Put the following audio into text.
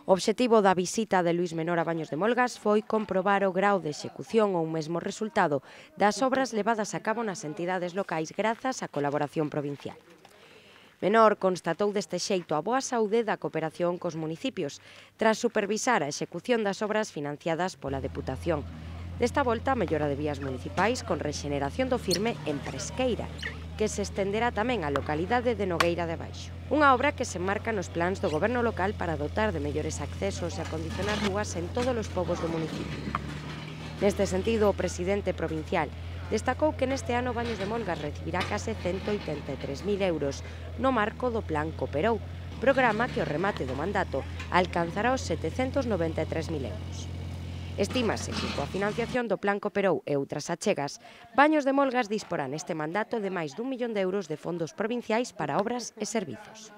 O obxectivo da visita de Luís Menor a Baños de Molgas foi comprobar o grao de execución ou mesmo resultado das obras levadas a cabo nas entidades locais grazas á colaboración provincial. Menor constatou deste xeito a boa saúde da cooperación cos municipios, tras supervisar a execución das obras financiadas pola Deputación. Desta volta, a mellora de vías municipais con rexeneración do Firme en Presqueira, que se estenderá tamén á localidade de Nogueira de Baixo. Unha obra que se enmarca nos plans do goberno local para dotar de mellores accesos e acondicionar rúas en todos os pobos do municipio. Neste sentido, o presidente provincial destacou que neste ano Baños de Molgas recibirá case 183.000 euros no marco do Plan Cooperou, programa que ao remate do mandato alcanzará os 793.000 euros. Estímase que coa financiación do Plan Cooperou e outras achegas, Baños de Molgas disporá neste mandato de máis d'1 millón de euros de fondos provinciais para obras e servizos.